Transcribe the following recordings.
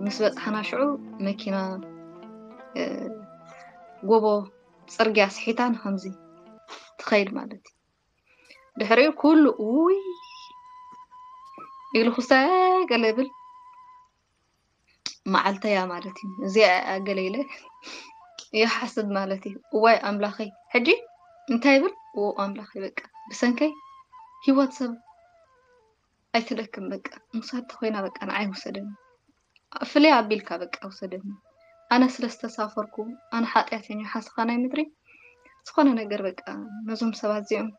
ምስ በጻሕና ሽዑ መኪና፣ እ፣ ጎቦ ጽርግያ ስሒታ ንኸምዚ ትኸይድ ማለት እዩ። ድሕሪኡ ኩሉ ውይ ኢልኩሰ ገለ ብል መዓልተያ ማለት እዩ። እዚኣ ገለ ኢለ ይሓስብ ማለት እዩ። እዋይ ኣምላኸይ፣ ሕጂ እንታይ ይብል? ኦ ኣምላኸይ፣ በቃ ብሰንከይ ህይወት ሰብ ኣይትለክም፣ በቃ ምሳት ተኮይና፣ በቃ ንዓይ ውሰደኒ፣ ፍልይ ኣቢልካ በቃ ውሰደኒ። ኣነ ስለ ዝተሳፈርኩ፣ ኣነ ሓጢኣተኛ ሓስኻ ናይ ምድሪ፣ ዝኾነ ነገር በቃ ነዞም ሰባት እዚኦም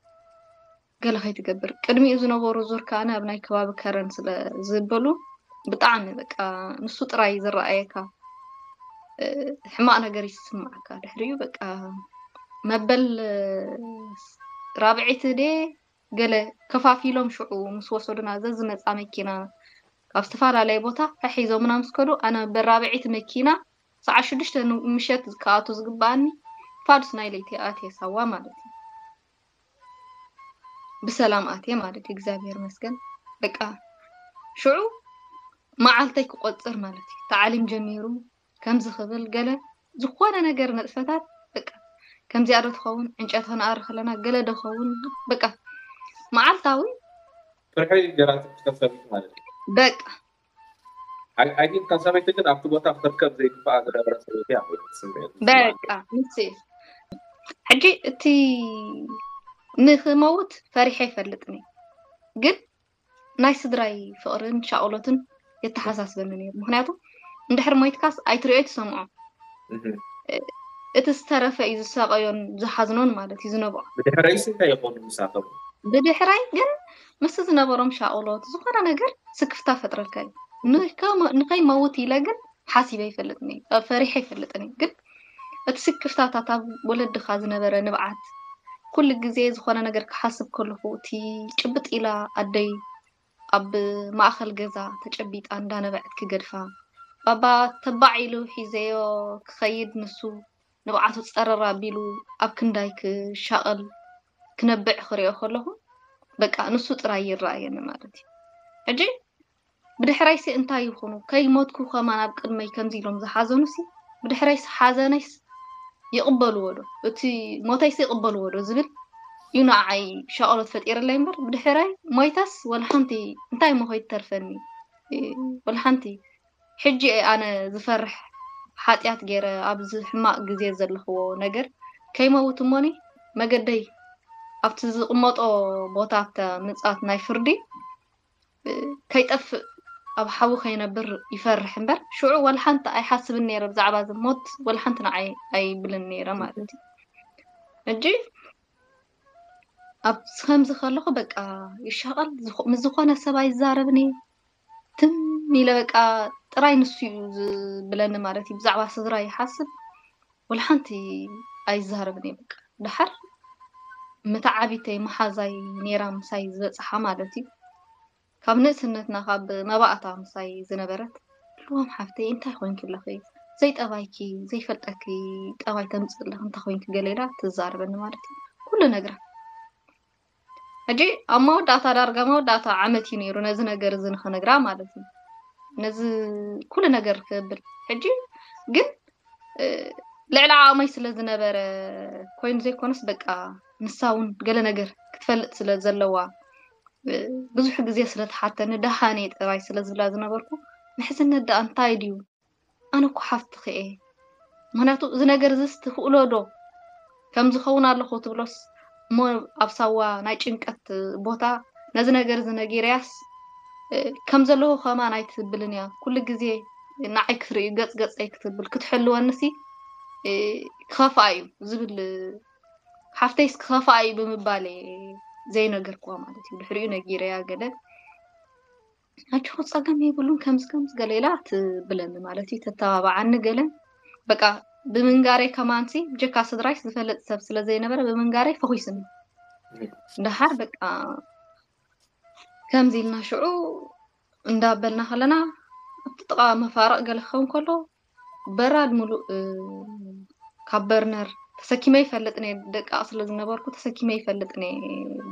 ገለ ከይትገብር። ቅድሚኡ ዝነበሩ ዙር ከኣ ኣብ ናይ ከባቢ ከረን ስለ ዝበሉ ብጣዕሚ በቃ ንሱ ጥራይ ዝረኣየካ፣ እ፣ ሕማቕ ነገር ይስማዓካ። ድሕሪኡ በቃ መበል ራብዒቲ ድየ ገለ ከፋፊሎም ሽዑ ምስ ወሰዱና፣ ዘዝመጻ መኪና ካብ ዝተፈላለየ ቦታ ሒዞምና ምስ ከዱ፣ ኣነ መበል ራብዒቲ መኪና ሰዓት ሽዱሽተ ን-፣ ምሸት ክኣቱ ዝግበኣኒ ፋዱስ ናይ ለይቲ ኣትየ ሳዋ ማለት እዩ። ብሰላም ኣትየ ማለት እዩ፣ እግዚኣብሔር ይመስገን። በቃ ሽዑ መዓልተይ ክቆጽር ማለት እዩ። ታዕሊም ጀሚሩ ከምዚ ክብል ገለ ዝኾነ ነገር ንጥፈታት በቃ ከምዚኣ ዶ ትኸውን፣ ዕንጨት ከነኣሪ ከለና ገለ ዶ ኸውን፣ በቃ መዓልታዊ ፍርሒ ገራትኪ ከሰብት ማለት እዩ። በቃ ኣይ፣ ኣይ ቲንክ እታ ሰበይቲ ግን ኣብቲ ቦታ ክትርከብ ዘይግባኣ ዝነበረ ሰበይቲ እያ ኮይኑ ዝስምዕ፣ ዝስምዓኒ። በቃ ንሱ እዩ። ሕጂ እቲ ንኽመውት ፈሪሐ ኣይፈልጥን እየ፣ ግን ናይ ስድራይ ፍቕርን ሻቕሎትን የተሓሳስበኒ ነይሩ። ምኽንያቱ እንድሕር ሞይትካስ ኣይትሪኦይ ትሰምዖ። እህ። እ-፣ እቲ ዝተረፈ እዩ ዝሳቐዮን ዝሓዝኖን ማለት እዩ ዝነብዖ። ብድሕረይስ እንታይ ይኾኑ ምሳቶም? ብድሕረይ ግን ምስቲ ዝነበሮም ሻቕሎት ዝኾነ ነገር ስክፍታ ፈጥረልካ እዩ። ንከ-፣ ንኸይመውት ኢለ ግን ሓሲበ ኣይፈልጥን እየ፣ እ፣ ፈሪሐ ኣይፈልጥን እየ። ግን እቲ ስክፍታታት ኣብ ወለድኻ ዝነበረ ንብዓት፣ ኩሉ ግዜ ዝኾነ ነገር ክሓስብ ከለኹ፣ እቲ ጭብጥ ኢላ ኣደይ ኣብ ማእኸል ገዛ ተጨቢጣ እንዳነበዐት ክገድፋ፣ ባባ ተባዕ ኢሉ ሒዘዮ ክኸይድ፣ ንሱ ንብዓቱ ጸረር ኣቢሉ ኣብ ክንዳይ ክሻቐል ክነብዕ ክሪኦ ከለኹ፣ በቃ ንሱ ጥራይ ይረኣየኒ ማለት እዩ። ሕጂ ብድሕረይሲ እንታይ ይኹኑ? ከይሞትኩ ከማን ኣብ ቅድመይ ከምዚ ኢሎም ዝሓዘኑሲ፣ ብድሕረይስ ሓዘነይስ ይቕበልዎ ዶ? እቲ ሞተይስ ይቕበልዎ ዶ ዝብል እዩ ንዓይ ሻቕሎት ፈጢርለይ እምበር፣ ብድሕረይ ሞይተስ ወላ ሓንቲ እንታይ እሞ ከይትተርፈኒ? እ፣ ወላ ሓንቲ። ሕጂ እየ ኣነ ዝፈርሕ፣ ሓጢኣት ገይረ ኣብዚ ሕማቕ ግዜ ዘለኽዎ ነገር ከይመውት እሞኒ፣ መገደይ ኣብቲ ዝቕመጦ ቦታ፣ ኣብታ ምጽኣት ናይ ፍርዲ ከይጠፍእ፣ ኣብ ሓዊ ከይነብር ይፈርሕ እምበር፣ ሽዑ ወላ ሓንቲ ኣይሓስብን ነይረ ብዛዕባ እዚ ሞት፣ ወላ ሓንቲ ንዓይ ኣይብልን ነይረ ማለት እዩ። ሕጂ ኣብ ከምዚ ከለኹ በቃ ይሻቐል፣ ዝኹ-፣ ምስ ዝኾነ ሰብ ኣይዛረብን እየ። ትም ኢለ በቃ ጥራይ ንሱ እዩ ዝብለኒ ማለት እዩ። ብዛዕባ ስድራ ይሓስብ፣ ወላ ሓንቲ ኣይዛረብን እየ በቃ። ደሓር መተዓቢተይ መሓዛይ ነይራ ምሳይ ዝበጽሓ ማለት እዩ። ካብ ንእስነትና ካብ መባእታ ምሳይ ዝነበረት፣ "ልዋም ሓፍተይ እንታይ ኮይንኪ ኣለኺ? ዘይጠባይኪ፣ ዘይፈልጠኪ ጠባይ ተምጽእ ኣለኺ እንታይ ኮይንኪ?" ገለ ኢላ ትዛረበኒ ማለት እዩ። ኩሉ ነግራ። ሕጂ ኣብ መወዳእታ፣ ዳርጋ መወዳእታ ዓመት እዩ ነይሩ ነዚ ነገር እዚ ንኽነግራ ማለት እዩ። ነዚ ኩሉ ነገር ክብል። ሕጂ ግን፣ እ፣ ልዕሊ ዓቕመይ ስለ ዝነበረ ኮይኑ ዘይኮነስ፣ በቃ ንሳ እውን ገለ ነገር ክትፈልጥ ስለ ዘለዋ፣ እ፣ ብዙሕ ግዜ ስለ ትሓተኒ፣ ደሃነይ ጥራይ ስለ ዝብላ ዝነበርኩ፣ ምሕዝነት ደኣ እንታይ ድዩ? ኣነ እኮ ሓፍትኺ እየ። ምኽንያቱ እዚ ነገር እዚስ ትኽእሎ ዶ? ከም ዝኸውን ኣለኹ ትብሎስ እሞ ኣብ ሳዋ ናይ ጭንቀት ቦታ ነዚ ነገር እዚ ነጊረያስ፣ እ፣ ከም ዘለኹ ከማን ኣይትብልን እያ። ኩሉ ግዜ ንዓይ ክትርእዩ ገጽ ገጸይ ክትብል ክትሕልወንሲ፣ እ፣ ክኸፍኣ እዩ ዝብል፣ ሓፍተይስ ክኸፍኣ እዩ ብምባል እየ ዘይነገርክዋ ማለት እዩ። ድሕሪኡ ነጊረያ ገለ ኣጆኹ ጸገም የብሉን ከምዚ ከምዚ ገለ ኢላ ትብለኒ ማለት እዩ፣ ተተባብዓኒ ገለ። በቃ ብምንጋረይ ከማንሲ ብጀካ ስድራይስ ዝፈልጥ ሰብ ስለ ዘይነበረ ብምንጋረይ ፈኹስኒ። ደሓር በቃ ከምዚ ኢልና ሽዑ እንዳበልና ከለና ኣብቲ ጥቓ መፋርቕ ገለ ክኸውን ከሎ በራድ ሙሉእ፣ እ፣ ካብ በርነር ተሰኪመ ይፈልጥ ነየ። ደቃቕ ስለ ዝነበርኩ ተሰኪመ ይፈልጥ ነየ።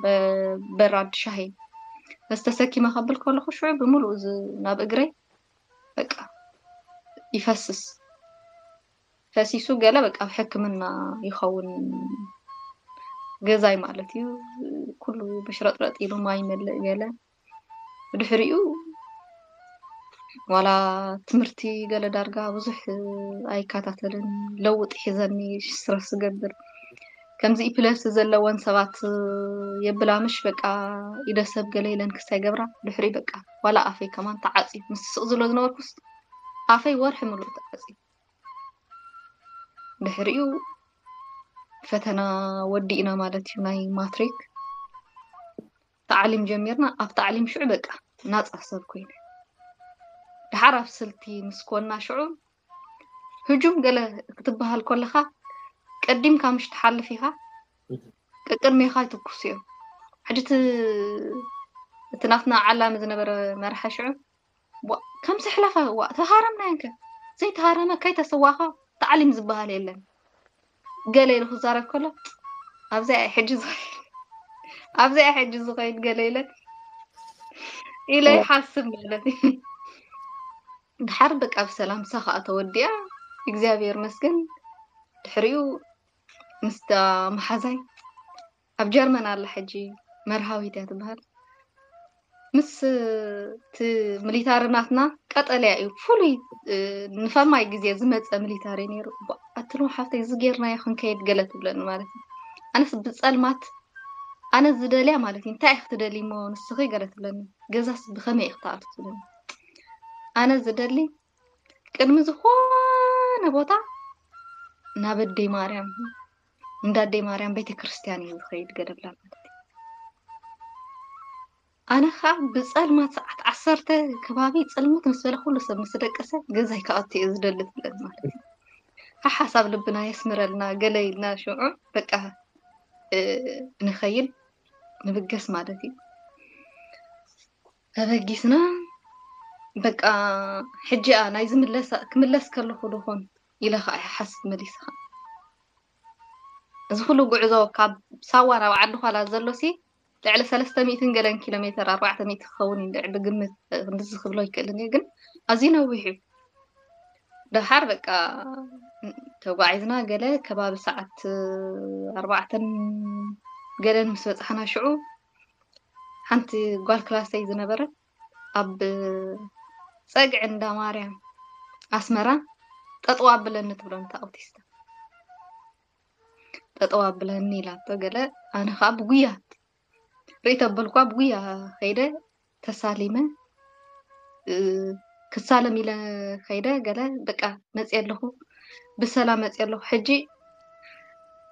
በ-፣ በራድ ሻሂ መስ ተሰኪመ ከብል ከለኹ ሽዑ ብምሉእ ዝ-፣ ናብ እግረይ በቃ ይፈስስ። ፈሲሱ ገለ በቃ ኣብ ሕክምና ይኸውን ገዛይ ማለት እዩ። ኩሉ በሽረጥረጥ ኢሉ ማይ ይመልእ ገለ። ብድሕሪኡ ዋላ ትምህርቲ ገለ ዳርጋ ብዙሕ ኣይከታተልን። ለውጢ ሒዘኒ ስትረስ ዝገብር። ከምዚ ኢፕለፕሲ ዘለወን ሰባት የብላምሽ በቃ ኢደ ሰብ ገለ ኢለን ክስታይ ገብራ። ድሕሪ በቃ ዋላ ኣፈይ ከማን ተዓጽዩ። ምስ ስቕ ዝብሎ ዝነበርኩስ ኣፈይ ወርሒ ምሉእ ተዓጽዩ። ድሕሪኡ ፈተና ወዲእና ማለት እዩ፣ ናይ ማትሪክ። ታዕሊም ጀሚርና። ኣብ ታዕሊም ሽዑ በቃ ናጻ ሰብ ኮይነ። ድሓር ኣብ ስልቲ ምስ ኮና ሽዑ ህጁም ገለ ክትበሃል ከለኻ ቀዲምካ ምሽ ትሓልፍ ኢኻ። ቀቅድሜኻ ይትኩሱ እዮም። ሕጂ እቲ፣ እቲ ናትና ዓላሚ ዝነበረ መርሓ ሽዑ ዋ፣ ከም ዘሕለፈ ዋ፣ ተሃረምና እንከ። ዘይተሃረመ ከይተሰዋኻ ታዕሊም ዝበሃል የለን። ገለ ኢሉ ክዛረብ ከሎ፣ ኣብዚኣ እየ ሕጂ ዝኸይድ፣ ኣብዚኣ እየ ሕጂ ዝኸይድ ገለ ኢለ፣ ኢለ ይሓስብ ማለት እዩ። ድሓር በቃ ብሰላም ምሳ ከኣ ተወዲኣ፣ እግዚኣብሔር ይመስገን። ድሕሪኡ ምስታ መሓዛይ ኣብ ጀርመን ኣላ ሕጂ፣ መርሃዊት እያ ትበሃል። ምስ እቲ ሚሊታሪ ናትና ቀጠልያ እዩ፣ ፍሉይ፣ እ፣ ንፈማይ ግዜ ዝመጸ ሚሊታሪ ነይሩ። ቧ፣ ኣትሎ ሓፍተይ፣ እዚ ጌርናዮ ክንከይድ ገለ ትብለኒ ማለት እዩ። ኣነስ ብጸልማት፣ ኣነ ዝደልያ ማለት እዩ፣ እንታይ ኢኺ ትደልዪ እሞ ንስኺ ገለ ትብለኒ። ገዛስ ብኸመይ ኢኺ ትኣትዊ ትብለኒ። ኣነ ዝደሊ ቅድሚ ዝኾነ ቦታ ናብ ኣደይ ማርያም፣ እንዳ ኣደይ ማርያም ቤተክርስትያን እዩ ዝኸይድ ገለ ብላ ማለት እዩ። ኣነ ኸኣ ብጸልማት ሰዓት ዓሰርተ ከባቢ ጽልምት ምስ በለ ኩሉ ሰብ ምስ ደቀሰ ገዛይ ክኣቱ እየ ዝደሊ ትብለኒ ማለት እዩ። ሓሓሳብ ልብና የስምረልና ገለ ኢልና ሽዑ በቃ፣ እ፣ ንኸይድ ንብገስ ማለት እዩ። ተበጊስና በቃ ሕጂ እያ ናይ ዝምለሳ፣ ክምለስ ከለኹ ዶ ኾን ኢለ ኸኣ ይሓስብ መሊስኻ። እዚ ኩሉ ጉዕዞ ካብ ሳዋ ናብ ዓዲ ዃላ ዘሎሲ ልዕሊ ሰለስተ ሚእትን ገለን ኪሎ ሜተር፣ ኣርባዕተ ሚእቲ ክኸውን እዩ እንድዒ ብግምት፣ ክንድዚ ክብሎ ይክእልን እየ፣ ግን ኣዝዩ ነዊሕ እዩ። ደሓር በቃ ተጓዒዝና ገለ ከባቢ ሰዓት ኣርባዕተን ገለን ምስ በጻሕና ሽዑ ሓንቲ ጓል ክላሰይ ዝነበረት ኣብ ጸግዒ እንዳ ማርያም ኣስመራ ጠጠው ኣብለኒ ትብሎ ነታ ኣውቲስታ። ጠጠው ኣብለኒ ኢላቶ ገለ፣ ኣነ ኸኣ ብጉያ ርእይ ተበልኳ፣ ብጉያ ኸይደ ተሳሊመ፣ እ፣ ክሳለም ኢለ ኸይደ ገለ፣ በቃ መጽየ ኣለኹ፣ ብሰላም መጽየ ኣለኹ። ሕጂ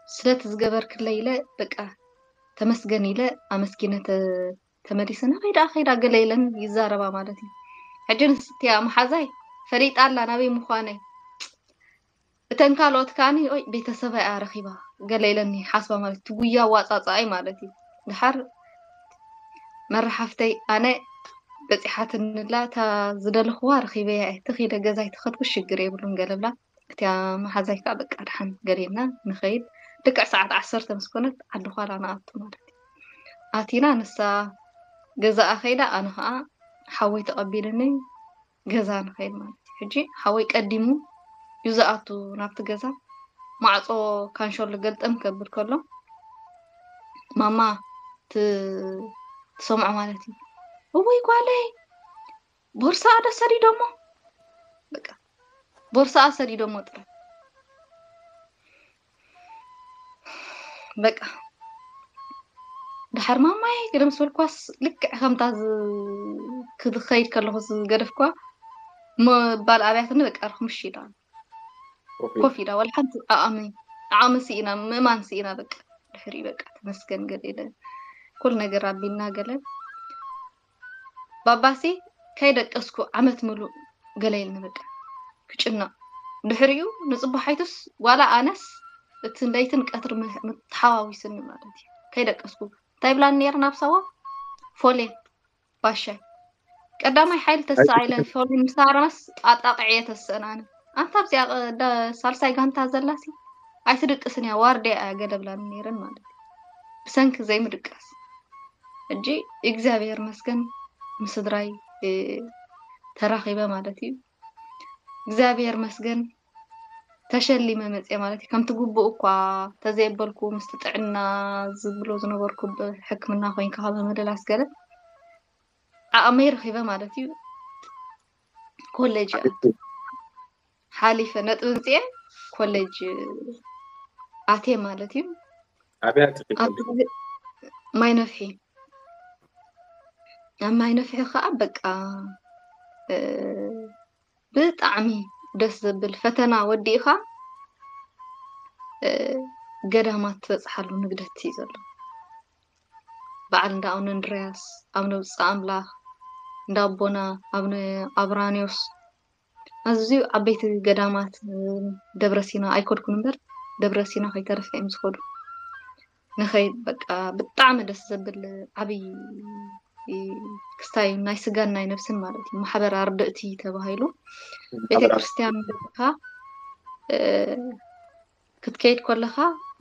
ስለቲ ዝገበርክለይ ኢለ በቃ ተመስገን ኢለ ኣመስጊነ ተ-፣ ተመሊሰ። ናበይ ደኣ ኸይዳ ገለ ኢለን ይዛረባ ማለት እዩ። ሕጂ ንስቲያ መሓዛይ ፈሊጣ ኣላ ናበይ ምዃነይ። እተን ካልኦት ከኣኒ፣ ኦይ፣ ቤተሰበይ እያ ረኺባ ገለ ኢለኒ ሓስባ ማለት እዩ። እቲ ጉያ ኣዋጻጽኣይ ማለት እዩ። ድሓር መራሓፍተይ ኣነ በጺሓትንላ፣ እታ ዝደለኽዋ ረኺበያ እየ። ተኺለ ገዛይ ተኸድኩ ሽግር የብሉን ገለ ብላ። እቲያ መሓዛይ ከኣ በቃ ድሓን ገለ ኢልና ንኸይድ። ልክዕ ሰዓት ዓሰርተ ምስ ኮነት ዓዲ ዃላ ንኣቱ ማለት እዩ። ኣቲና ንሳ ገዛኣ ኸይዳ ኣነ ኸኣ ሓወይ ተቐቢልኒ ገዛ ንኸይድ ማለት እዩ። ሕጂ ሓወይ ቀዲሙ እዩ ዝኣቱ ናብቲ ገዛ። ማዕጾ ካንሸሎ ገልጠም ከብል ከሎ ማማ ት-፣ ትሰምዖ ማለት እዩ። እወይ ጓለይ ቦርሳኣ ዶ ሰዲዶሞ? በቃ ቦርሳኣ ሰዲዶሞ ጥራይ። በቃ ድሓር ማማይ ገለ ምስ በልኳስ ልክዕ ከምታ ዝ-፣ ክኸይድ ከለኹ ዝገደፍኳ ምባል ኣብያትኒ በቃ ርኽምሽ ኢላ ኮፍ ኢላ፣ ወላ ሓንቲ ዓቕሚ፣ ዓቕሚ ስኢና፣ ምእማን ስኢና በቃ። ድሕሪ በቃ ተመስገን ገለ ኢለ ኩሉ ነገር ኣቢልና ገለ ባባሲ ከይደቀስኩ ዓመት ምሉእ ገለ ኢልኒ በቃ ክጭነቕ። ድሕሪኡ ንጽባሓይቱስ ዋላ ኣነስ እቲ ለይትን ቀትሪ ም-፣ ምተሓዋዊስኒ ማለት እዩ። ከይደቀስኩ እንታይ ብላኒ ነይረ ናብ ሳዋ? ፎሌን ባሻይ ቀዳማይ ሓይሊ ተስኣ ኢለ ፎሌን ምስ ሃረመስ ኣጣቕዐ እየ ተስአን ኣነ። ኣንታ ኣብዚኣ ቐ- ዳ- ሳልሳይ ጋንታ ዘላሲ ኣይትድቅስን እያ፣ ዋርድያ እያ ገለ ብላኒ ነይረን ማለት እዩ። ብሰንኪ ዘይምድቃስ ሕጂ እግዚኣብሔር መስገን ምስ ስድራይ እ፣ ተራኺበ ማለት እዩ። እግዚኣብሔር መስገን ተሸሊመ መፅየ ማለት እዩ። ከምቲ ግቡእ እኳ ተዘየበልኩ ምስቲ ጥዕና ዝብሎ ዝነበርኩ ብሕክምና ኮይንካ ካብ ምልላስ ገለ ዓቕመይ ረኺበ ማለት እዩ። ኮሌጅ እያ ሓሊፈ ነጥቢ ምፅኤ ኮሌጅ ኣትየ ማለት እዩ። ኣብያ ትኽእል ኣብዚ ግዜ ማይ ነፍሒ ኣብ ማይ ነፍሒ ከዓ በቃ እ፣ ብጣዕሚ ደስ ዘብል ፈተና ወዲእኻ እ፣ ገዳማት ትበፅሓሉ ንግደት እዩ ዘሎ። በዓል እንዳ ኣቡነ እንድርያስ፣ ኣቡነ ብፁዕ ኣምላኽ፣ እንዳ ኣቦና ኣቡነ ኣብራኒዮስ ኣዝዩ ዓበይቲ ገዳማት እ፣ ደብረ ሲና ኣይከድኩን እምበር ደብረ ሲና ከይተረፈ እዮም ዝኸዱ። ንኸይድ በቃ ብጣዕሚ ደስ ዘብል ዓብይ ክስታይ ናይ ስጋን ናይ ነብስን ማለት እዩ። ማሕበር ኣርድእቲ ተባሂሉ ቤተ ክርስቲያን በቃ እ፣ ክትከይድ ከለኻ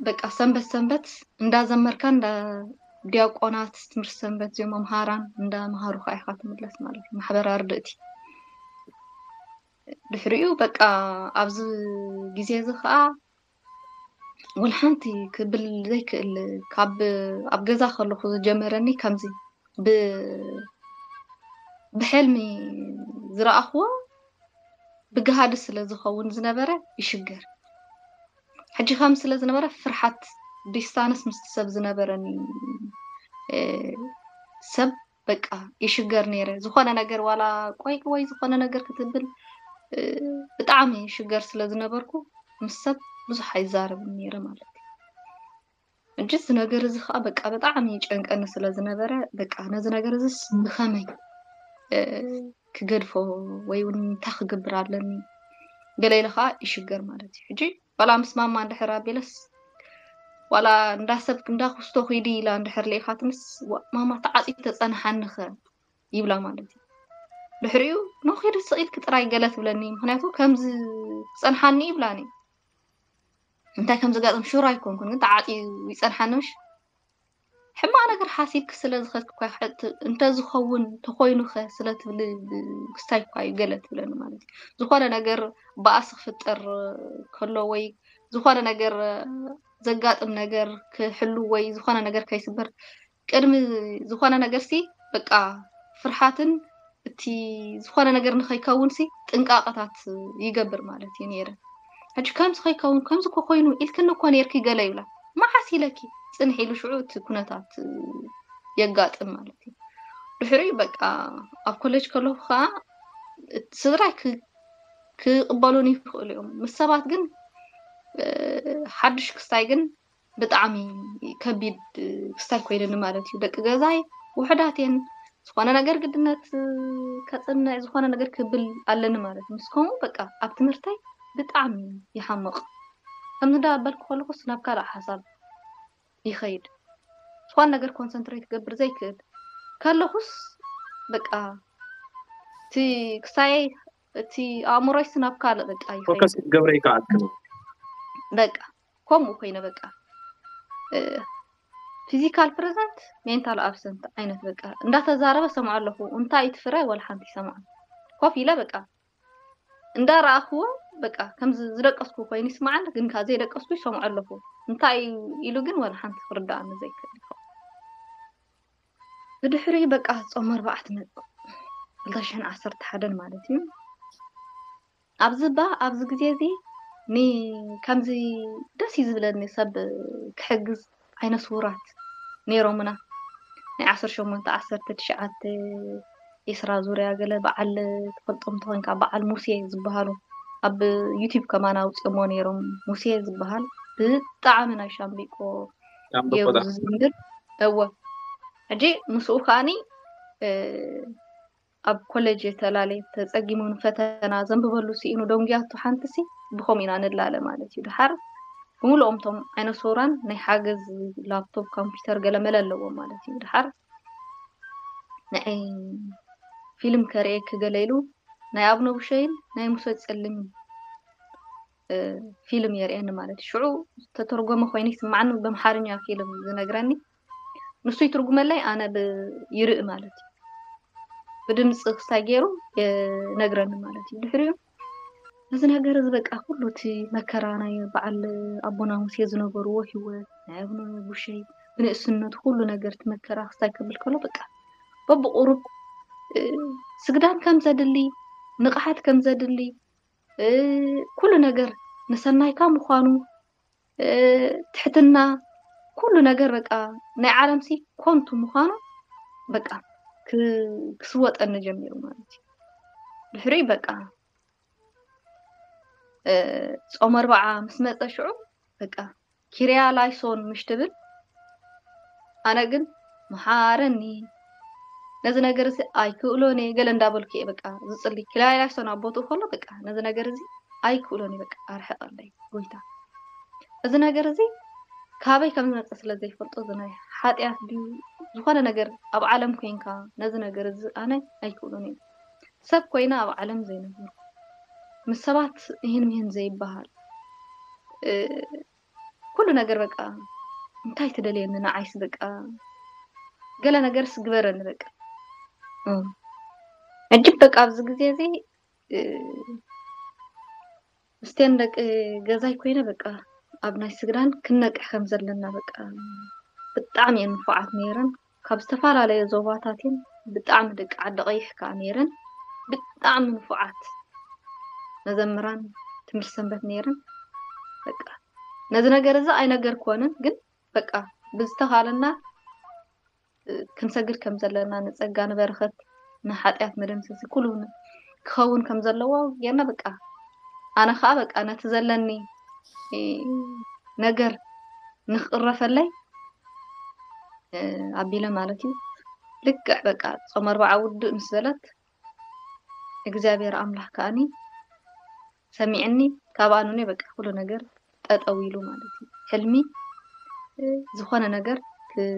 በቃ ሰንበት ሰንበት እንዳዘመርካ እንዳ ዲያቆናት ትምህርቲ ሰንበት እዚኦም መምሃራን እንዳመሃሩኻ ኢኻ ትምለስ ማለት እዩ። ማሕበር ኣርድእቲ ድሕሪኡ በቃ ኣብዚ ግዜ እዚ ከዓ ወላ ሓንቲ ክብል ዘይክእል ካብ ኣብ ገዛ ከለኹ ዝጀመረኒ ከምዚ ብ ብሕልሚ ዝረኣኽዎ ብግሃዲ ስለ ዝኸውን ዝነበረ ይሽገር። ሕጂ ከም ስለ ዝነበረ ፍርሓት ዲስታንስ ምስቲ ሰብ ዝነበረኒ እ፣ ሰብ በቃ ይሽገር ነይረ። ዝኾነ ነገር ዋላ ቆይ ወይ ዝኾነ ነገር ክትብል እ፣ ብጣዕሚ ይሽገር ስለ ዝነበርኩ ምስ ሰብ ብዙሕ ኣይዛረብን ነይረ ማለት እዩ። ሕጂ እዚ ነገር እዚ ከዓ በቃ ብጣዕሚ ይጨንቀኒ ስለ ዝነበረ በቃ ነዚ ነገር እዚስ ብኸመይ እ፣ ክገድፎ ወይ እውን እንታይ ክገብር ኣለኒ ገለ ኢለ ከዓ ይሽገር ማለት እዩ። ሕጂ ዋላ ምስ ማማ እንድሕር ኣቢለስ ዋላ እንዳ ሰብ እንዳ ኩስቶ ኺዲ ኢላ እንድሕር ልኢኻትንስ ዋ- ማማ ተዓፂ ተፀንሓኒኸ ይብላ ማለት እዩ። ድሕሪኡ ኖ ኺዲ ስቕ ኢልኪ ጥራይ ገለ ትብለኒ። ምክንያቱ ከምዚ ክፀንሓኒ ይብላኒ። እንታይ ከም ዝጋጥም ሹር ኣይኮንኩን፣ ግን ተዓፂ ይፀንሓኒ ምሽ ሕማቕ ነገር ሓሲብኪ ስለ ዝኸድኪ እኳ ይሕት- እንተዝኸውን ተኾይኑኸ ስለ ትብሊ ብ- ክስታይ እኳ እዩ ገለ ትብለኒ ማለት እዩ። ዝኾነ ነገር ባእሲ ክፍጠር ከሎ ወይ ዝኾነ ነገር ዘጋጥም ነገር ክሕሉ ወይ ዝኾነ ነገር ከይስበር ቅድሚ ዝኾነ ነገር ሲ በቃ ፍርሓትን እቲ ዝኾነ ነገር ንኸይከውን ሲ ጥንቃቐታት ይገብር ማለት እዩ ነይረ። ሕጂ ከምዚ ከይከውን ከምዚ እኮ ኮይኑ ኢልክኒ እኮ ነይርኪ ገለ ይብላ። መዓስ ኢለኪ ፅንሕ ኢሉ ሽዑ እቲ ኩነታት የጋጥም ማለት እዩ። ድሕሪኡ በቃ ኣብ ኮሌጅ ከለኹ ከዓ እቲ ስድራይ ክ- ክቕበሉን ይኽእሉ እዮም። ምስ ሰባት ግን እ፣ ሓድሽ ክስታይ ግን ብጣዕሚ ከቢድ ክስታይ ኮይኑኒ ማለት እዩ። ደቂ ገዛይ ውሕዳት እየን። ዝኾነ ነገር ግድነት ከፅንዕ ዝኾነ ነገር ክብል ኣለኒ ማለት እዩ። ምስ ከምኡ በቃ ኣብ ትምህርተይ ብጣዕሚ ይሓምቕ። ከምዚ እንዳበልኩ ከለኹስ ናብ ካልእ ሓሳብ ይኸይድ። ዝኾነ ነገር ኮንሰንትሬት ክገብር ዘይክእል ከለኹስ በቃ እቲ ክሳየይ እቲ ኣእምሮይስ ናብ ካልእ በቃ ይኸይድ። ፎከስ ክትገብረ ይከኣልክን። በቃ ከምኡ ኮይነ በቃ ፊዚካል ፕሬዘንት ሜንታል ኣብሰንት ዓይነት በቃ እንዳተዛረበ ሰምዖ ኣለኹ። እንታይ እዩ እቲ ፍረ ወላ ሓንቲ ይሰምዖ ኮፍ ኢለ በቃ እንዳረኣኽዎ በቃ ከም ዝ- ዝደቀስኩ ኮይኑ ይስምዓኒ፣ ግን ከኣ ዘይደቀስኩ ይሰምዖ ኣለኹ። እንታይ እዩ ኢሉ ግን ወላ ሓንቲ ክርድኣኒ ዘይክእል ይኸውን። ብድሕሪ በቃ ጾም ኣርባዕተ መጽእ ክልተ ሽሕን ዓሰርተ ሓደን ማለት እዩ። ኣብዚ ባ ኣብዚ ግዜ እዚ ኒ ከምዚ ደስ እዩ ዝብለኒ ሰብ ክሕግዝ። ዓይነ ስውራት ነይሮምና ናይ ዓሰርተ ሸሞንተ ዓሰርተ ትሽዓተ ዒስራ ዙርያ ገለ በዓል ትፈልጦም ተኾይንካ በዓል ሙሴ ዝበሃሉ ኣብ ዩቲብ ከማን ኣውፅኦሞ ነይሮም። ሙሴ ዝበሃል ብጣዕሚ ናይ ሻምቢቆ ሻምበቆ ገይሩ ዳ- ዝዝምር እወ ሕጂ ምስኡ ከዓኒ እ፣ ኣብ ኮሌጅ ተላለ ተፀጊሙ ንፈተና ዘንብበሉ ስኢኑ ደንጉያቱ ሓንቲ ሲ ብኸምኡ ኢና ንላለ ማለት እዩ። ድሓር ብምልኦም ቶም ዓይነ ስውራን ናይ ሓገዝ ላፕቶፕ ኮምፒውተር ገለ መለ ኣለዎ ማለት እዩ። ድሓር ንዓይ ፊልም ከርእየኪ ገለ ኢሉ ናይ ኣብነ ብሸይን ናይ ሙሴ ፀልሚ ፊልም የርእየኒ ማለት እዩ። ሽዑ ዝተተርጎመ ኮይኑ ይስማዓኒ፣ በምሓርኛ ፊልም ዝነግረኒ፣ ንሱ ይትርጉመለይ፣ ኣነ ብ-፣ ይርኢ ማለት እዩ። ብድምፂ ክስታይ ገይሩ የነግረኒ ማለት እዩ። ድሕሪኡ እዚ ነገር እዚ በቃ ኩሉ እቲ መከራ ናይ በዓል ኣቦና ሙሴ ዝነበርዎ ህይወት፣ ናይ ኣቡነ ቡሸይ ብንእስነቱ ኩሉ ነገር እቲ መከራ ክስታይ ከብል ከሎ በቃ በብቁሩብ፣ እ፣ ስግዳን ከም ዘድሊ፣ ንቕሓት ከም ዘድሊ፣ እ፣ ኩሉ ነገር ንሰናይካ ምዃኑ፣ እ፣ ትሕትና፣ ኩሉ ነገር በቃ ናይ ዓለምሲ ኮንቱ ምዃኑ በቃ ክ-፣ ክስወጠኒ ጀሚሩ ማለት እዩ። ድሕሪኡ በቃ፣ እ፣ ጾም ኣርብዓ ምስ መጸ ሽዑ በቃ ኪርያ ላይሶን ምሽ ትብል፣ ኣነ ግን መሓረኒ፣ ነዚ ነገር እዚ ኣይክእሎን እየ ገለ እንዳበልኩ እየ በቃ ዝጽሊ። ኪርያ ላይሶን ኣብ ቦትኡ ከሎ በቃ ነዚ ነገር እዚ ኣይክእሎን እየ በቃ ኣርሕቐለይ ጎይታ። እዚ ነገር እዚ ካበይ ከም ዝመጸ ስለ ዘይፈልጦ፣ እዚ ናይ ሓጢኣት ድዩ ዝኾነ ነገር ኣብ ዓለም ኮይንካ ነዚ ነገር እዚ ኣነ ኣይክእሎን እየ። ሰብ ኮይነ ኣብ ዓለም ዘይነበርኩ፣ ምስ ሰባት ይህን ምሂን ዘይበሃል፣ እ፣ ኩሉ ነገር በቃ እንታይ ትደልየኒ ንዓይስ በቃ ገለ ነገርስ ግበረኒ በቃ። እ፣ ሕጂ በቃ ኣብዚ ግዜ እዚ፣ እ፣ ምስቴን ደቂ ገዛይ ኮይነ በቃ ኣብ ናይ ስግዳን ክንነቅሕ ከም ዘለና በቃ ብጣዕሚ እየን ንፉዓት ነይረን። ካብ ዝተፈላለየ ዞባታት እየን፣ ብጣዕሚ ደቂ ዓዲ ቀይሕ ከኣ ነይረን። ብጣዕሚ ንፉዓት መዘምራን ትምህርቲ ሰንበት ነይረን። በቃ ነዚ ነገር እዚ ኣይነገርክወንን፣ ግን በቃ ብዝተኻለና ክንሰግድ ከም ዘለና፣ ንጸጋ ንበረኸት ንሓጢኣት መደምሰሲ ኩሉ ን-፣ ክኸውን ከም ዘለዎ ጌርና በቃ ኣነ ኸኣ በቃ ነቲ ዘለኒ፣ እ፣ ነገር ንኽቕረፈለይ፣ እ፣ ኣቢለ ማለት እዩ። ልክዕ በቃ ጾም ኣርብዓ ውድእ ምስ በለት እግዚኣብሔር ኣምላኽ ከኣኒ ሰሚዕኒ፣ ካብ ኣኑኔ በቃ ኩሉ ነገር ጠጠው ኢሉ ማለት እዩ። ሕልሚ፣ እ፣ ዝኾነ ነገር ክ-፣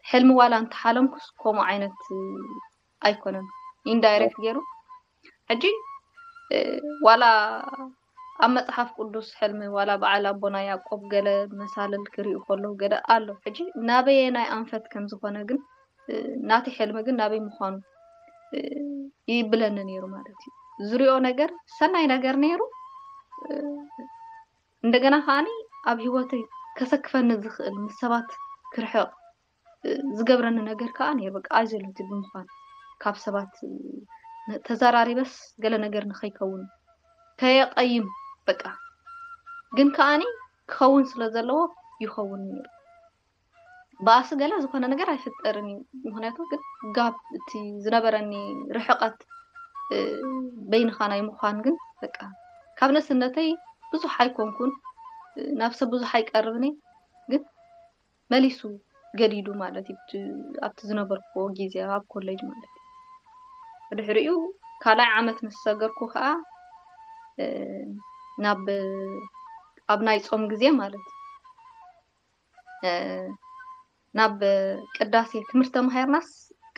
ሕልሚ ዋላ እንተሓለምኩስ ከምኡ ዓይነት፣ እ፣ ኣይኮነን። ኢንዳይሬክት ገይሩ። ሕጂ፣ እ፣ ዋላ ኣብ መጽሓፍ ቅዱስ ሕልሚ ዋላ በዓል ኣቦና ያዕቆብ ገለ መሳልል ክርእዩ ከለዉ ገለ ኣሎ። ሕጂ ናበየናይ ኣንፈት ከም ዝኾነ ግን፣ እ፣ ናተይ ሕልሚ ግን ናበይ ምዃኑ፣ እ፣ ይብለኒ ነይሩ ማለት እዩ። ዝሪኦ ነገር ሰናይ ነገር ነይሩ። እ፣ እንደገና ከኣኒ ኣብ ህይወተይ ከሰክፈኒ ዝኽእል ምስ ሰባት ክርሕቕ፣ እ፣ ዝገብረኒ ነገር ከኣ ነይሩ። በቃ ኣይዞለቲ ብምዃን ካብ ሰባት፣ እ፣ ነ-፣ ተዘራሪበስ ገለ ነገር ንኸይከውን ከየቐይም በቃ። ግን ከኣኒ ክኸውን ስለ ዘለዎ ይኸውን ነይሩ። ባእሲ ገለ ዝኾነ ነገር ኣይፍጠርን እዩ። ምኽንያቱ ግን ጋብ እቲ ዝነበረኒ ርሕቐት፣ እ፣ በይንኻ ናይ ምዃን ግን በቃ ካብ ንእስነተይ ብዙሕ ኣይኮንኩን፣ እ፣ ናብ ሰብ ብዙሕ ኣይቀርብን እየ። ግን መሊሱ ገዲዱ ማለት እዩ፣ ኣብቲ፣ ኣብቲ ዝነበርኩዎ ግዜ ኣብ ኮሌጅ ማለት እዩ። ብድሕሪኡ ካልኣይ ዓመት ምስ ሰገርኩ ከኣ፣ እ፣ ናብ፣ ኣብ ናይ ጾም ግዜ ማለት እዩ። እ፣ ናብ ቅዳሴ ትምህርቲ ተማሂርናስ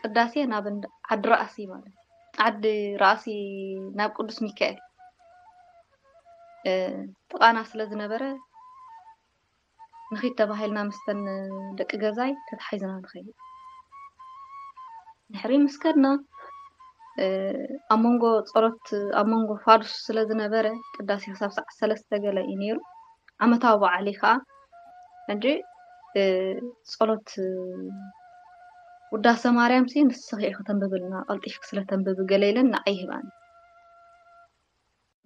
ቅዳሴ ናብ እንዳ ዓዲ ራእሲ ማለት እዩ። ዓዲ ራእሲ ናብ ቅዱስ ሚካኤል፣ እ፣ ጥቓና ስለ ዝነበረ ንኺድ ተባሂልና ምስተን ደቂ ገዛይ ተታሒዝና ንኸይድ። ድሕሪ ምስ ከድና፣ እ፣ ኣብ መንጎ ጸሎት፣ ኣብ መንጎ ፋዱስ ስለ ዝነበረ ቅዳሴ ክሳብ ሰዓት ሰለስተ ገለ እዩ ነይሩ። ዓመታዊ በዓል እዩ ከኣ። ሕጂ፣ እ፣ ጸሎት፣ እ፣ ውዳሴ ማርያምሲ ንስኺ ኢኺ ተንብብልና፣ ቀልጢፍኪ ስለ ተንብቢ ገለ ኢለን ንዓይ ይህባኒ።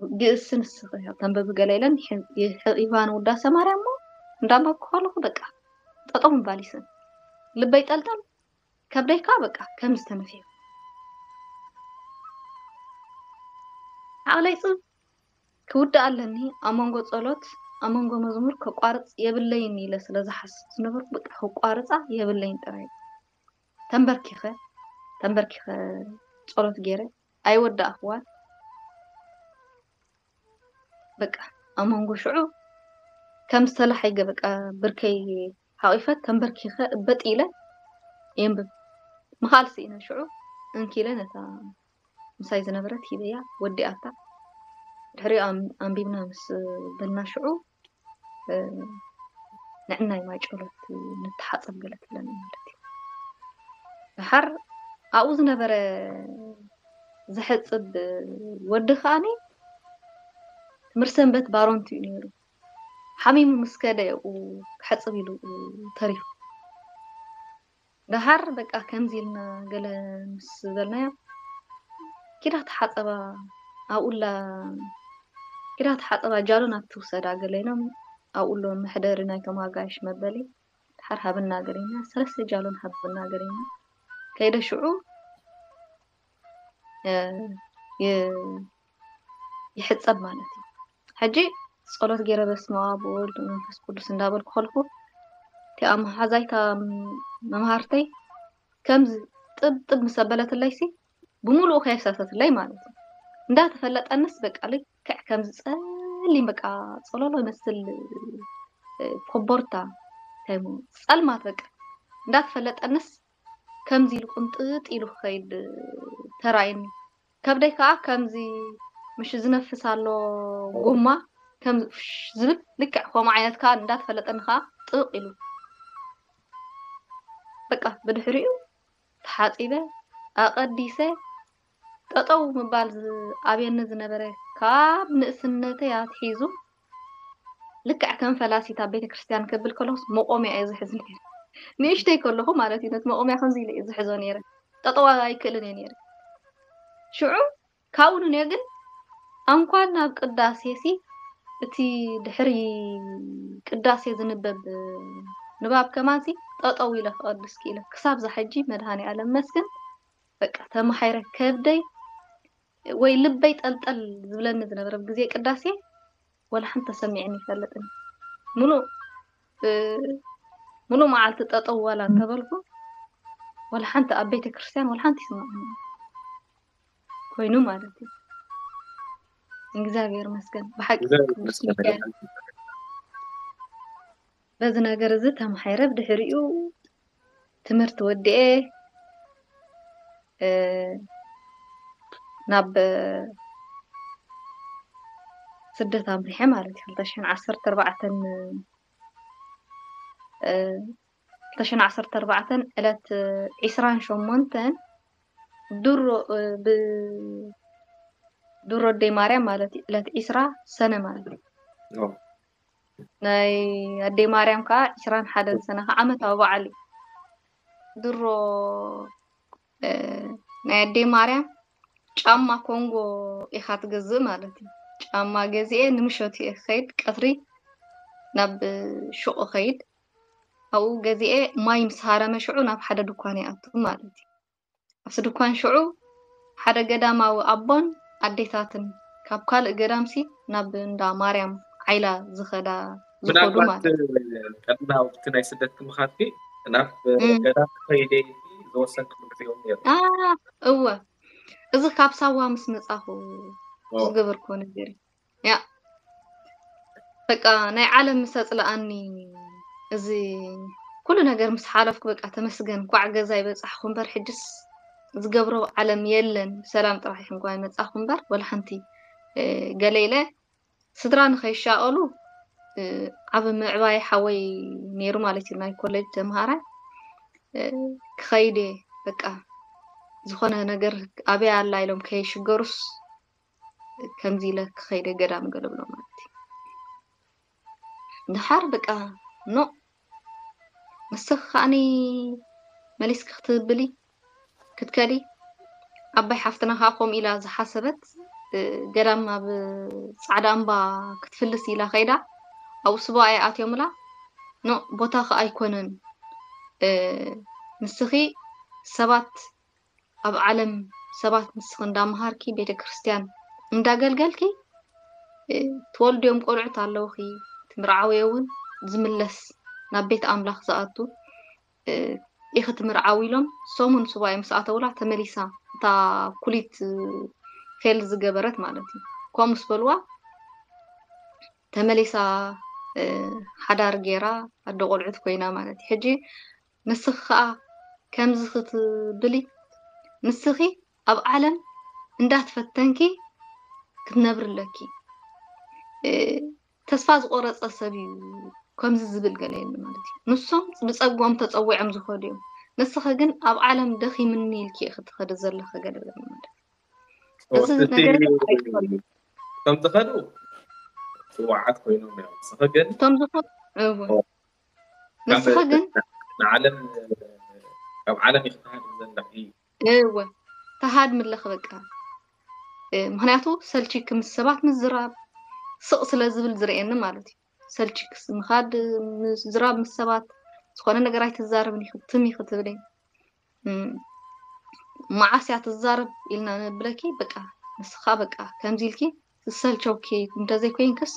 ግእዝሲ ንስኺ ኢኺ ተንብቢ ገለ ኢለን ይሕ-፣ ይሕ-፣ ይህባኒ ውዳሴ ማርያም እሞ እንዳንበብኩ ከለኹ በቃ ጠጠው ምባል ይስእን። ልበይ ጠልጠል፣ ከብደይ ከኣ በቃ ከም ዝተነፍሐ። ዓቕለይ ጽብ ክውድእ ኣለኒ፣ ኣብ መንጎ ጸሎት፣ ኣብ መንጎ መዝሙር ከቋርጽ የብለይን ኢለ ስለ ዝሓስብ ዝነበርኩ፣ በቃ ከቋርጻ የብለይን ጥራይ። ተንበርኪኸ፣ ተንበርኪኸ ጸሎት ገይረ፣ ኣይወዳእኽዋን። በቃ ኣብ መንጎ ሽዑ ከም ዝተላሓይገ በቃ ብርከይ ሓቒፈ ተንበርኪኸ እበጥ ኢለ የንብብ። ምኻል ስኢነ ሽዑ እንኪ ኢለ ነታ ምሳይ ዝነበረት ሂበያ ወዲኣታ። ድሕሪኡ ኣም- ኣንቢብና ምስ በልና ሽዑ፣ እ፣ ንዕናይ ማይ ጨሎት ንተሓጸብ ገለ ትብለኒ ማለት እዩ። ደሓር ኣብኡ ዝነበረ ዘሕጽብ ወዲ ከኣኒ ትምህርቲ ሰንበት ባሮንት እዩ ነይሩ። ሓሚሙ ምስ ከደ እዩ ክሕጽብ ኢሉ ተሪፉ። ደሓር በቃ ከምዚ ኢልና ገለ ምስ በልናዮ፣ ኪዳ ተሓጸባ ኣብኡላ፣ ኪዳ ተሓጸባ ጃሎን ኣብቲ ውሰዳ ገለ ኢሎም ኣብኡሎ መሕደሪ ናይቶም ኣጋይሽ መበሊ ደሓር ሃብና ገለ ኢልና፣ ሰለስተ ጃሎን ሃብና ገለ ኢልና ከይደ ሽዑ እ፣ ይ- ይሕጸብ ማለት እዩ። ሕጂ ጸሎት ገይረ በስመ ኣብ ወወልድ ወመንፈስ ቅዱስ እንዳበልኩ ከልኩ እቲኣ መሓዛይታ መምሃርተይ ከምዚ ጥብ ጥብ ምስ ኣበለትለይሲ ብምሉኡ ከየፍሰሰትለይ ማለት እዩ። እንዳተፈለጠንስ በቃ ልክዕ ከምዚ ጸሊም በቃ ጸሎሎ ይመስል እ፣ ኮቦርታ እንታይ እሞ ጸልማት በቃ እንዳተፈለጠንስ ከምዚ ኢሉ ቁንጥጥ ኢሉ ክኸይድ ተራእየኒ። ከብደይ ከዓ ከምዚ ምሽ ዝነፍስ ኣሎ ጎማ ከምዚ ፍሽ ዝብል ልክዕ ከምኡ ዓይነት ከዓ እንዳተፈለጠኒ ከዓ ጥብቕ ኢሉ በቃ ብድሕሪኡ ተሓፂበ ኣቐዲሰ ጠጠው ምባል ዝኣብየኒ ዝነበረ ካብ ንእስነተይ ኣትሒዙ ልክዕ ከም ፈላሲት ኣብ ቤተ ክርስቲያን ከብል ከለኹስ መቆምያ እየ ዝሕዝ ነይረ። ንእሽተይ ከለኹ ማለት እዩ ነቲ መቆምያ ከምዚ ኢለ እየ ዝሕዞ ነይረ። ጠጠው ኣይክእልን እየ ነይረ። ሽዑ ካብኡ ንንዮ ግን ኣንኳን ናብ ቅዳሴ ሲ እቲ ድሕሪ ቅዳሴ ዝንበብ ንባብ ከማን ሲ ጠጠው ኢለ ክቐድስ ክኢለ ክሳብ ዛ ሕጂ መድሃኔ ኣለም መስግን በቃ ተማሓይረ ከብደይ ወይ ልበይ ጠልጠል ዝብለኒ ዝነበረ ኣብ ግዜ ቅዳሴ ወላ ሓንቲ ተሰሚዕኒ ይፈልጥን ሙሉእ እ፣ ሙሉእ መዓልቲ ጠጠው ዋላ እንተበልኩ ወላ ሓንቲ ኣብ ቤተ ክርስቲያን ወላ ሓንቲ ይስማዕኒ ኮይኑ ማለት እዩ። እግዚኣብሔር መስገን ብሓቂ ቅዱስ ሚካኤል በዚ ነገር እዚ ተማሓይረ ብድሕሪኡ ትምህርቲ ወዲኤ እ፣ ናብ ስደት ኣምሪሐ ማለት እዩ። ክልተ ሽሕን ዓሰርተ ኣርባዕተን እ፣ ክልተ ሽሕን ዓሰርተ ኣርባዕተን ዕለት ዒስራን ሸሞንተን ድሮ እ፣ ብ ድሮ ኣደይ ማርያም ማለት እዩ። ዕለት ዒስራ ሰነ ማለት እዩ። ናይ ኣደይ ማርያም ከዓ ዒስራን ሓደን ሰነ ከዓ ዓመታዊ በዓል እዩ። ድሮ እ፣ ናይ ኣደይ ማርያም ጫማ ኮንጎ ኢኻ ትገዝእ ማለት እዩ። ጫማ ገዚኤ ንምሸቱ እየ ክኸይድ፣ ቀትሪ ናብ ሹቕ እኸይድ። ኣብኡ ገዚኤ ማይ ምስ ሃረመ ሽዑ ናብ ሓደ ድኳን ይኣቱ ማለት እዩ። ኣብቲ ድኳን ሽዑ ሓደ ገዳማዊ ኣቦን ኣዴታትን ካብ ካልእ ገዳምሲ ናብ እንዳ ማርያም ዓይላ ዝኸዳ ዝኸዱ ምናልባት ማለት እዩ። ቀድሚ ናብቲ ናይ ስደት ክምኻድኪ ናብ እም። ገዳም ከይደ ዝወሰንክሉ ግዜ እውን ነይሩ። አ፣ እወ እዚ ካብ ሳዋ ምስ መጻኹ ኦ። ዝገበርኩዎ ነገር እዩ። ያ በቃ ናይ ዓለም ምስ ኣጽልኣኒ እዚ ኩሉ ነገር ምስ ሓለፍኩ በቃ ተመስገን ኳዕ ገዛ ይበጻሕኩ እምበር ሕጅስ ዝገብሮ ዓለም የለን። ብሰላም ጥራሕ ይሕንኳ ይመጻኹ እምበር ወላ ሓንቲ እ፣ ገለ ኢለ ስድራ ንኸይሻቐሉ እ፣ ዓብ ምዕባይ ሓወይ ነይሩ ማለት እዩ ናይ ኮሌጅ ተምሃራይ እ፣ ክኸይድ እየ በቃ ዝኾነ ነገር ኣበይ ኣላ ኢሎም ከይሽገሩስ ከምዚ ኢለ ክኸይደ ገዳም ገለ ብሎ ማለት እዩ። ድሓር በቃ ኖ ንስኺ ከዓኒ መሊስኪ ክትብሊ ክትከዲ ኣባይ ሓፍትና ከዓ ከምኡ ኢላ ዝሓሰበት እ፣ ገዳም ኣብ ፃዕዳ እምባ ክትፍልስ ኢላ ከይዳ ኣብኡ ስቡኣ ኣትዮምላ ኖ ቦታኺ ኣይኮነን እ፣ ንስኺ ሰባት ኣብ ዓለም ሰባት ንስኺ እንዳመሃርኪ ቤተ ክርስቲያን እንዳገልገልኪ እ፣ ትወልድዮም ቆልዑት ኣለውኺ ትምርዓውዮ እውን ዝምለስ ናብ ቤት ኣምላኽ ዝኣቱ እ፣ ኢኺ ትምርዓዊ ኢሎም ሰሙን ሱባኤ ምስ ኣተውላ ተመሊሳ እታ ኩሊት እ፣ ፌል ዝገበረት ማለት እዩ ከምኡ ምስ በልዋ ተመሊሳ እ፣ ሓዳር ገይራ ኣደ ቆልዑት ኮይና ማለት እዩ ሕጂ ንስኺ ከዓ ከምዚ ክትብሊ ንስኺ ኣብ ዓለም እንዳትፈተንኪ ክትነብሪ ኣለኪ ተስፋ ዝቆረፀ ሰብ እዩ ከምዚ ዝብል ገለ የለ ማለት እዩ። ንሶም ብፀግኦም ተፀዊዖም ዝኸዱ እዮም። ንስኸ ግን ኣብ ዓለም ደኺምኒ ኢልኪ ክትኸዲ ዘለኸ ገለ ማለት እዩ። እዚ ነገር ኣይትፈልጥ። ከም ዝኸዱ ስዋዓት ኮይኖም እዮም። ንስኸ ግን እቶም ዝኾኑ እወ። ንስኸ ግን ንዓለም ካብ ዓለም ይክትሃድ ዘለኺ እወ ተሃድሚ ኣለኺ በቃ። ምክንያቱ ሰልቺ ምስ ሰባት ምዝራብ ስቕ ስለ ዝብል ዝርእየኒ ማለት እዩ። ሰልቺ ምስ ምኻድ ምዝራብ ምስ ሰባት ዝኾነ ነገር ኣይትዛረብን ኢኺ ትም ኢኺ ትብለይ። መዓስ እያ ትዛረብ ኢልና ነብለኪ በቃ ንስኻ በቃ ከምዚ ኢልኪ ዝሰልቸውኪ እንተዘይኮይንክስ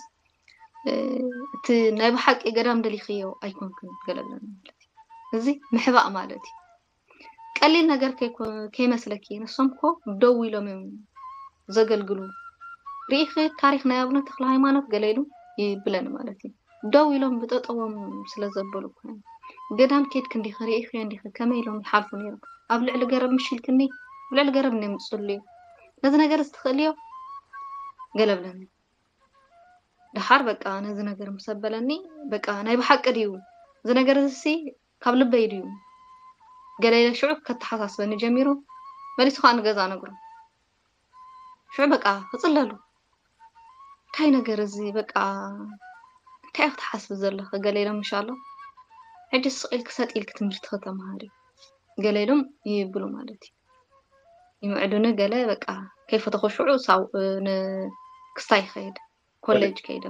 እቲ ናይ ብሓቂ ገዳም ደሊኽዮ ኣይኮንክን ገለብለኒ ማለት እዩ። እዚ ምሕባእ ማለት እዩ። ቀሊል ነገር ከይኮ- ከይመስለኪ ንሶም እኮ ደው ኢሎም እዮም ዘገልግሉ። ርኢኺ ታሪኽ ናይ ኣቡነ ተክለ ሃይማኖት ገለ ኢሉ ይብለኒ ማለት እዩ። ደው ኢሎም ብጠጠዎም ስለ ዘበሉ እኮ እዮም። ገዳም ኬድኪ እንዲኺ ርኢኺዮ እንዲኺ ከመይ ኢሎም ይሓልፉ ነይሮም። ኣብ ልዕሊ ገረብ ምሽ ኢልክኒ ኣብ ልዕሊ ገረብ እንዲም ዝፅልዩ ነዚ ነገር እዚ ትኽእልዮ ገለብለኒ። ደሓር በቃ ነዚ ነገር ምስ ኣበለኒ በቃ ናይ ብሓቂ ድዩ እዚ ነገር እዚሲ ካብ ልበይ ድዩ ገለ ኢለ ሽዑ ከተሓሳስበኒ ጀሚሩ። መሊሱ ከዓ ንገዛ ነግሮ ሽዑ በቃ ክፅለሉ እንታይ ነገር እዚ በቃ እንታይ ክትሓስብ ዘለኺ ገለ ኢሎም ምሻሎ ሕጂ ስቕ ኢልኪ ሰጥ ኢልኪ ትምህርቲ ከተምሃሪ ገለ ኢሎም ይብሉ ማለት እዩ። ይምዕዱኒ ገለ በቃ ከይፈተኹ ሽዑ ሳው ክስታይ ይኸይድ ኮሌጅ ከይደ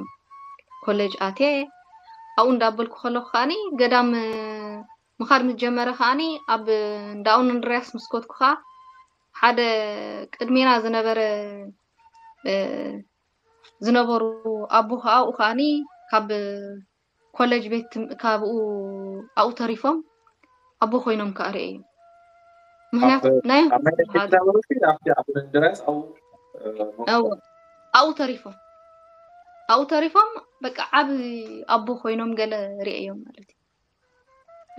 ኮሌጅ ኣትየ ኣብኡ እንዳበልኩ ከለኹ ከዓኒ ገዳም ምኻድ ምስ ጀመረ ከዓኒ ኣብ እንዳ ኣቡነ እንድርያስ ምስ ከድኩ ከዓ ሓደ ቅድሜና ዝነበረ ዝነበሩ ኣቦ ኣብኡ ከዓኒ ካብ ኮሌጅ ቤት ትም- ካብኡ ኣብኡ ተሪፎም ኣቦ ኮይኖም ከዓ ርእየ እዩ። ምክንያቱ ናይ ኣብቲ ኣቡነ እንድርያስ ኣብኡ ኣብኡ ተሪፎም ኣብኡ ተሪፎም በቃ ዓብ ኣቦ ኮይኖም ገለ ርእዮም ማለት እዩ።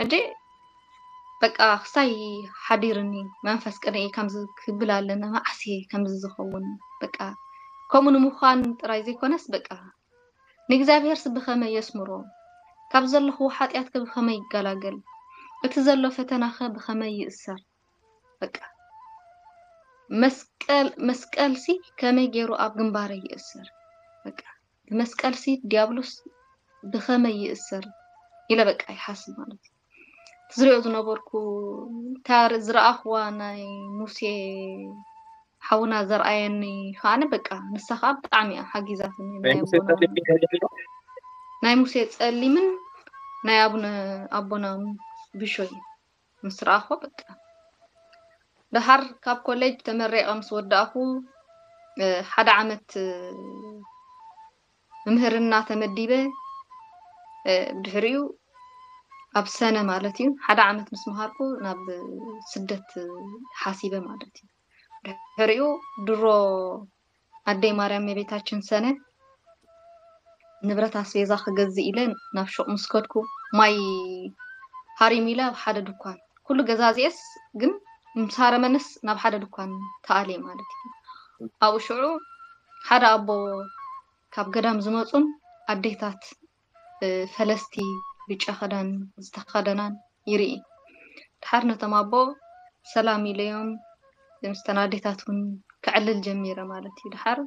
ሕጂ በቃ ክሳይ ሓዲርኒ መንፈስ ቅነ ከምዚ ክብል ኣለና መዓስ ከምዚ ዝኸውን በቃ ከምኡ ንምዃን ጥራይ ዘይኮነስ በቃ ንእግዚኣብሔርስ ብኸመይ የስምሮ ካብ ዘለኹዎ ሓጢኣትከ ብኸመይ ይገላገል እቲ ዘሎ ፈተናኸ ብኸመይ ይእሰር በቃ መስቀል መስቀልሲ ከመይ ገይሩ ኣብ ግንባረይ ይእሰር በቃ ብመስቀልሲ ዲያብሎስ ብኸመይ ይእሰር ኢለ በቃ ይሓስብ ማለት እዩ። ዝሪኦ ዝነበርኩ እታ ዝረኣኽዋ ናይ ሙሴ ሓውና ዘርኣየኒ ከዓኒ በቃ ንሳ ከዓ ብጣዕሚ እያ ሓጊዛትኒ ናይ ኣቦና ናይ ሙሴ ፀሊምን ናይ ኣቡነ ኣቦና ብሾይ ምስ ረኣኽዎ በቃ ደሓር ካብ ኮሌጅ ተመሪቐ ምስ ወዳእኹ ሓደ ዓመት ምምህርና ተመዲበ ድሕሪኡ ኣብ ሰነ ማለት እዩ ሓደ ዓመት ምስ መሃርኩ ናብ ስደት ሓሲበ ማለት እዩ። ድሕሪኡ ድሮ ኣደይ ማርያም የቤታችን ሰነ ንብረት ኣስቤዛ ክገዝእ ኢለ ናብ ሹቕ ምስ ከድኩ ማይ ሃሪሙ ኢለ ኣብ ሓደ ድኳን ኩሉ ገዛዚኤስ ግን ምስ ሃረመንስ ናብ ሓደ ድኳን ተኣልየ ማለት እዩ። ኣብኡ ሽዑ ሓደ ኣቦ ካብ ገዳም ዝመፁን ኣዴታት ፈለስቲ ብጫ ክዳን ዝተኸደናን ይርኢ። ድሓር ነቶም ኣቦ ሰላም ኢለዮም ምስተን ኣዴታት እውን ከዕልል ጀሚረ ማለት እዩ። ድሓር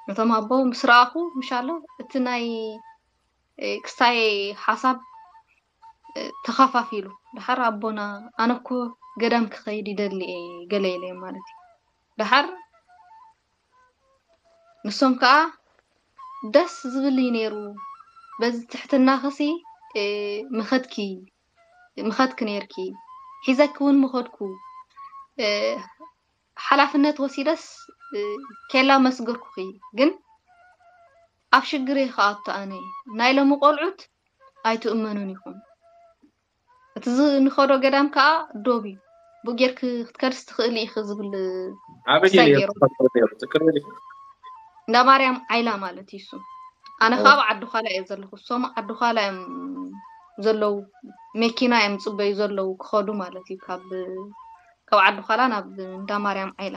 ነቶም ኣቦ ምስ ረኣኹ ምሻሎ እቲ ናይ ክስታይ ሓሳብ ተኻፋፊሉ ድሓር ኣቦና ኣነ እኮ ገዳም ክኸይድ ይደሊ እየ ገለ ኢለዮም ማለት እዩ። ድሓር ንሶም ከዓ ደስ ዝብል እዩ ነይሩ በዚ ትሕትና ኸሲ ምኸድኪ ምኸድኪ ነይርኪ ሒዘኪ እውን ምኸድኩ ሓላፍነት ወሲደስ ኬላ መስገርኩኺ ግን ኣብ ሽግር እየ ክኣቱ ኣነ ናይ ሎሚ ቆልዑት ኣይትእመኑን ኢኹም እቲ ንኸዶ ገዳም ከዓ ዶብ እዩ ብኡ ጌርኪ ክትከድስ ትኽእሊ ኢኺ ዝብል ኣበይ ክሳይ ነይሩ ገይሩ ተፈጥሮ ነይሩ ትክክል እዩ። እንዳ ማርያም ዓይላ ማለት እዩ እሱ ኣነ ካብ ዓዲ ኳላ እየ ዘለኹ እሶም ዓዲ ኳላ እዮም ዘለዉ መኪና እዮም ፅበዩ ዘለዉ ክኸዱ ማለት እዩ ካብ ካብ ዓዲ ኳላ ናብ እንዳ ማርያም ዓይላ